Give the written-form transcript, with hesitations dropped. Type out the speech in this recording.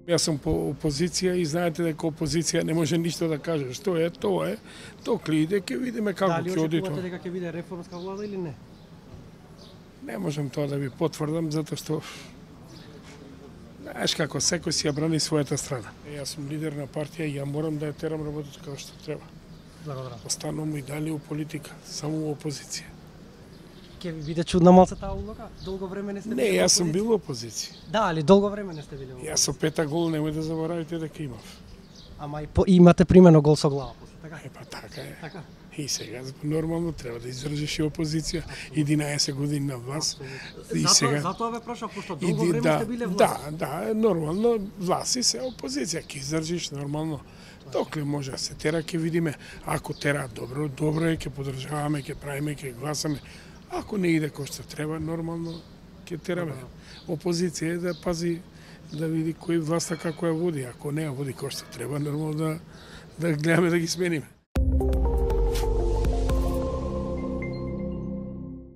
Јас сум по опозиција и знаете дека опозиција не може ништо да каже. Што е, тоа е. Докли иде, ќе видиме како ќе оди тоа. Дали очекувате дека ќе биде реформска влада или не? Не можам тоа да ви потврдам, затоа што знаеш како, секој си ја брани својата страна. Јас сум лидер на партија и ја морам да ја терам работата како што треба. Благодарам. Останувам и дали у политика, само у опозиција. Ќе ви биде чудна малце таа улога? Долго време не сте Не, били јас сум опозиција? бил у опозиција. Да, али долго време не сте били во Јас со 5 гол немој да заборавите дека имав. Ама имате примено гол со глава, така? Па така е. Така. И сега нормално треба да издржиш и опозиција 11 години на власт. И сега Затоа ве прашав, пошто и долго време сте биле власт. Да, нормално власт и се опозиција ќе издржиш нормално. Докле може да се тера, ќе видиме. Ако тера добро, добро е, ќе поддржаваме, ќе правиме, ќе гласаме. Ако не иде кој што треба, нормално ќе тераме. Опозиција е да пази, да види кој власта како ја води. Ако не ја води кој што треба, нормално да гледаме да ги смениме.